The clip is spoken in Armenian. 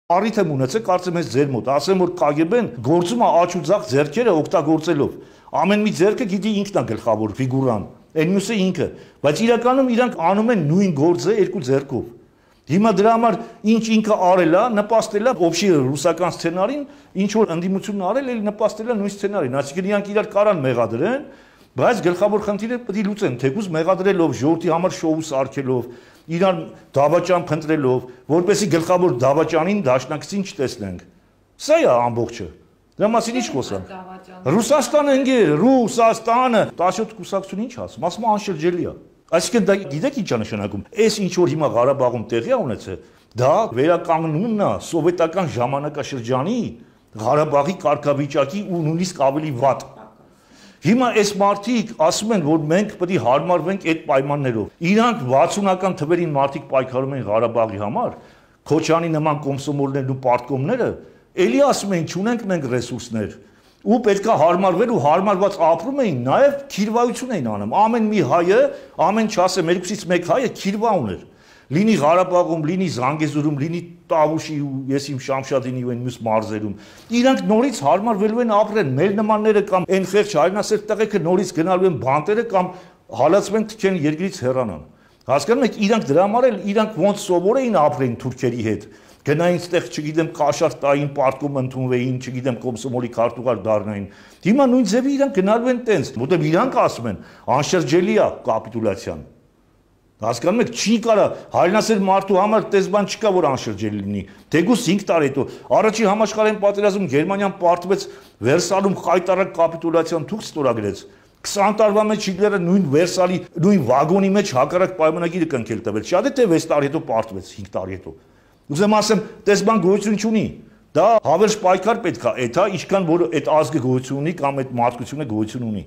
Առիթ եմ ունեցել, կարծեմ ես ձեր մոտ, ասեմ որ KGB-ն գործում է աչ ու ձախ ձեռքերը օգտագործելով։ Ամեն մի ձեռքը գիտի ինքն է գլխավոր ֆիգուրան, այն մյուսը ինքը, բայց իրականում իրանք անում են նույն գործը երկու ձեռքով։ Հիմա դրա համար ինչ ինքը արել է, նպաստել է օբշի ռուսական սցենարին, ինչ որ ընդդիմությունն արել է, նպաստել է նույն սցենարին, այսինքն իրանք իրար կարան մեղադրեն, բայց գլխավոր խնդիրը պետք է լուծեն, թեկուզ մեղադրելով, ժողովրդի համար շոու սարքելով, իրար դավաճան փնտրելով, որպեսզի գլխավոր դավաճանին դաշնակցին չտեսնենք։ Սա է ամբողջը։ Դրա մասին ինչ խոսանք։ Ռուսաստանը ընկեր, Ռուսաստանը 17 կուսակցություն ինչ ասում, ասում անշրջելի է։ Այսինքն դա գիտեք ինչ է նշանակում։ Այս ինչ որ հիմա Ղարաբաղում տեղի է ունեցել, դա վերականգնումն է սովետական ժամանակաշրջանի Ղարաբաղի կարգավիճակի ու նույնիսկ ավելի վատ։ Հիմա այս մարդիկ ասում են, որ մենք պետք է հարմարվենք այդ պայմաններով։ Իրանք 60-ական թվերին մարդիկ պայքարում են Ղարաբաղի համար, Քոչյանի նման կոմսոմոլներն ու պարտկոմները, էլի ասում են, չունենք մենք ռեսուրսներ, ու պետքա հարմարվել ու հարմարված ապրում էին, նաև քիրվայություն էին անում։ Ամեն մի հայը, ամեն չասեմ, երկուսից մեկ հայը քիրվա ուներ։ Լինի Ղարաբաղում, լինի Զանգեզուրում, լինի Տավուշի ու ես իմ Շամշադինի ու այն մյուս մարզերում։ Իրանք նորից հարմարվելու են ապրեն, մեր նմանները կամ այն խեղճ հայրենասեր տղեկը նորից գնալու են բանտերը կամ հալածվեն թքեն երկրից հեռանան։ Հասկանում եք, իրանք դրա համար էլ իրանք ոնց սովոր էին ապրեն թուրքերի հետ։ Գնային ստեղ, չգիտեմ, կաշառ տային, պարտքում ընդունվեին, չգիտեմ, կոմսոմոլի քարտուղար դառնային։ Հիմա նույն ձևի իրանք գնալու են տենց, որտեղ իրանք ասում են, անշրջելի է կապիտուլյացիան։ Հասկանում եք, չի կարա հայրենասեր մարդու համար տես բան չկա, որ անշրջելի լինի։ Թեկուզ 5 տարի հետո առաջի համաշխարհային պատերազմում Գերմանիան պարտվեց Վերսալում խայտարակ կապիտուլյացիան թուղթ ստորագրեց։ 20 տարվա մեջ Հիտլերը նույն Վերսալի նույն վագոնի մեջ հակառակ պայմանագիրը կնքել տվեց։ Շատ է թե 6 տարի հետո պարտվեց, 5 տարի հետո։ Ուզեմ ասեմ, տես բան գոյություն չունի։ Դա հավերժ պայքար պետք է, այդ հա, ինչքան որ այդ ազգը գոյություն ունի կամ այդ մարդկությունը գոյություն ունի։